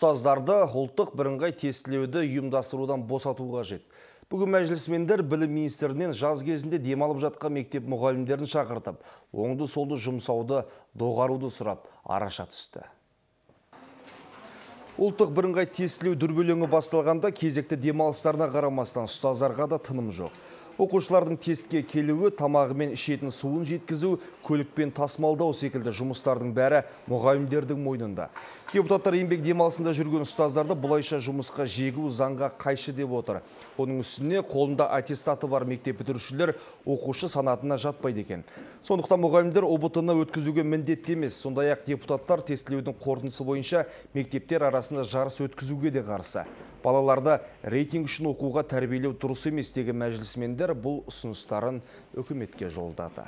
Ұстаздарды ұлттық бірыңғай тестілеуді ұйымдастырудан босату қажет. Бүгін мәжілісмендер білім министрінен жаз кезінде демалып жатқан мектеп мұғалімдерін шақыртып, оңды-солды жұмсауды доғаруды сұрап, араша түсті. Ұлттық бірыңғай тестілеу дүрбелеңі басталғанда кезекті демалыстарына қарамастан ұстаздарға да тыным жоқ. Оқушылардың тестке келуі, тамағы мен ішетін суын жеткізу, көлікпен тасымалдау секілді жұмыстардың бәрі мұғалімдердің мойнында. Депутаттар еңбек демалысында жүрген ұстаздарды бұлайша жұмысқа жегу заңға қайшы деп отыр. Оның үстіне қолында аттестаты бар мектеп бітірушілер оқушы санатына жатпайды екен. Сондықтан мұғалімдер ұбт-ны өткізуге міндетті емес. Сондай-ақ депутаттар тестілеудің қорытындысы бойынша мектептер арасында жарыс өткізуге де қарсы. Балаларды рейтинг үшін оқуға тәрбиелеу дұрыс емес деген мәжілісмендер бұл ұсыныстарын үкіметке жолдады.